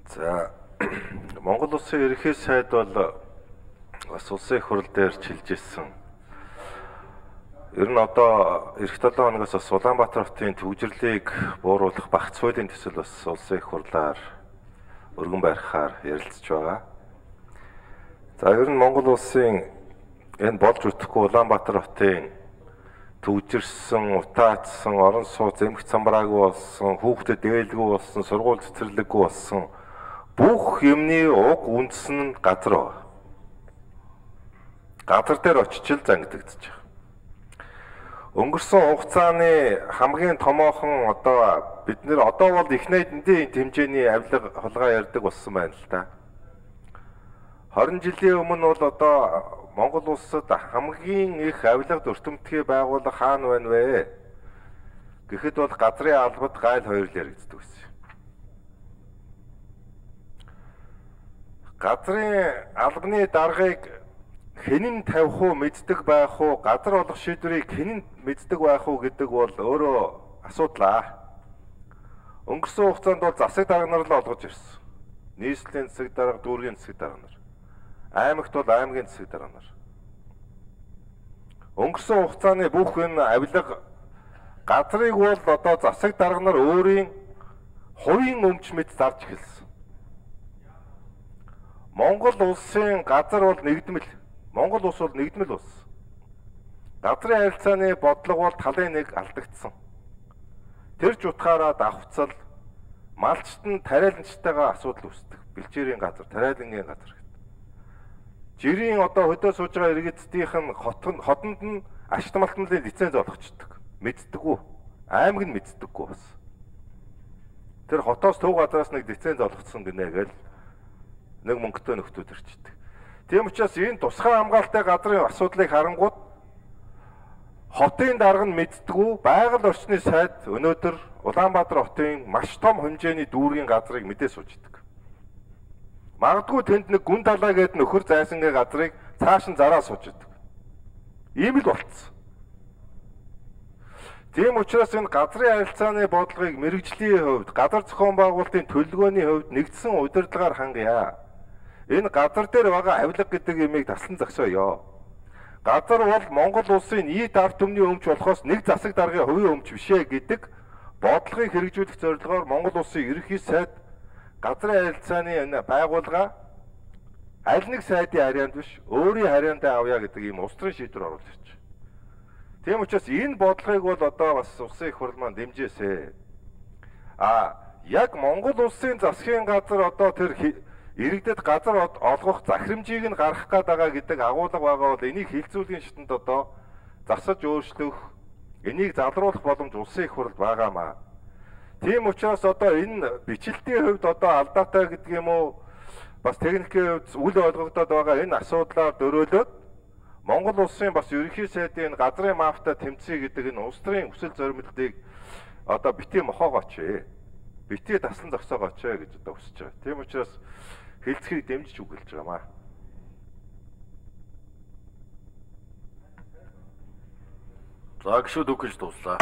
За Монгол улсын ерөнхий сайд бол бас улсын их хурал дээр чилж ирсэн. Ер нь одоо эх 7 хоногоос бас Улаанбаатар хотын төвжирлийг бууруулах багц хуулийн төсөл бас улсын их хурлаар өргөн барихаар ярилцж байгаа. За ер нь Монгол улсын энэ болж үтэхгүй Улаанбаатар хотын төвжирсэн, утаацсан, орон сууц эмх цамбраагүй болсон, хүүхдэд ээлгүй болсон, сургууль цэцэрлэггүй болсон бүх юмны уг үндэс нь газар байна. Газар дээр очиж л зангидагдчих. Өнгөрсөн хугацааны хамгийн томоохон одоо бид нэр одоо бол их найдны хэмжээний авилга хулгай ярьдаг болсон байна л да. 20 жилийн өмнө бол одоо Монгол улсад хамгийн их авилга өртөмтгий байгууллага хаана байна вэ? Гэхэд бол газрын албад гайл хоёр л яригддаг байсан. Газрын албаны даргаыг хэн нь тавих уу, мэддэг байх уу, газар олох шийдвэрийг хэн нь мэддэг байх уу гэдэг бол өөрөө асуудал. Өнгөрсөн хугацаанд бол засаг дарга нар л олгож ирсэн. Нийслэлийн засаг дарга, дүүргийн засаг дарга нар. Аймагт бол аймгийн засаг дарга нар. Өнгөрсөн хугацааны бүх энэ авилга газрыг бол одоо засаг дарга нар өөрийн хувийн өмч мэт зарж эхэлсэн. Монгол улсын газар бол нэгдмэл. Монгол улс бол нэгдмэл улс. Газрын харилцааны бодлого бол талын нэг алдагдсан. Тэр ч утгаараа давхцал малчт нь тариаланчтайгаа асуудал үүсдэг. Бэлчээрийн газар, тариалангийн газар гэдэг. Жирийн одоо хөдөө сууж байгаа иргэдтийнх нь хотонд нь ашигт малтмлын лиценз олгочдөг. Мэддэггүй. Аймаг нь мэддэггүй бас. Тэр хотоос төв газараас нэг лиценз олгоцсон гинэ гэл нэг мөнгөтэй нөхдүүд ирчдэг. Тийм учраас энэ тусгай хамгаалалттай газрын асуудлыг харангууд хотын дарга нь мэддэггүй, байгаль орчны сайд өнөөдөр Улаанбаатар хотын маш том хэмжээний дүүргийн газрыг мэдээ сууждаг. Магадгүй тэнд нэг гүн талаа гээд нөхөр зайсангийн газрыг цааш нь зараа сууждаг. Ийм л болцсон. Тийм учраас энэ газрын харилцааны бодлогыг мэрэгжлийн хувьд, газар зохион байгуулалтын төлөвлөгөөний хувьд нэгдсэн удирдлагаар хангая. Энэ газар дээр байгаа авилга гэдэг юмыг таслан зогсооё. Газар бол Монгол улсын нийт ард түмний өмч болохоос нэг засаг даргын хувийн өмч бишээ гэдэг бодлогыг хэрэгжүүлэх зорилгоор Монгол улсын ерөнхий сайд газрын харилцааны энэ байгууллага аль нэг сайдын харьяанд биш өөрийн харьяандаа авъя гэдэг ийм устрын шийдвэр оруулж ирж байна. Тийм учраас энэ бодлогыг бол одоо бас улсын их хурл маань дэмжээсэй. Яг Монгол улсын засгийн газар одоо тэр иргэдэд газар олгох захирамжийг нь гаргах гээд байгаа гэдэг агуулга байгаа бол энийг хилцүүлгийн шатнд одоо засаж өөрчлөх, энийг залруулах боломж улсын их хурлд байгаамаа. Тийм учраас одоо энэ бичлэлтийн хувьд одоо алдаатай гэдэг юм уу бас техникийн хувьд үл ойлгогдоод байгаа энэ асуудлаар дөрөөлөөд Монгол улсын бас ерөнхий сайдын газрын мафтай тэмцэе гэдэг энэ улс төрийн хүсэл зорилтыг одоо битгий мохоогооч ээ. Битгий таслан зогсоогооч ээ гэж одоо хүсэж байгаа. Тийм учраас хэлцгийг дэмжиж үгэлж байгаамаа. За гişүүд үгэж дуслаа.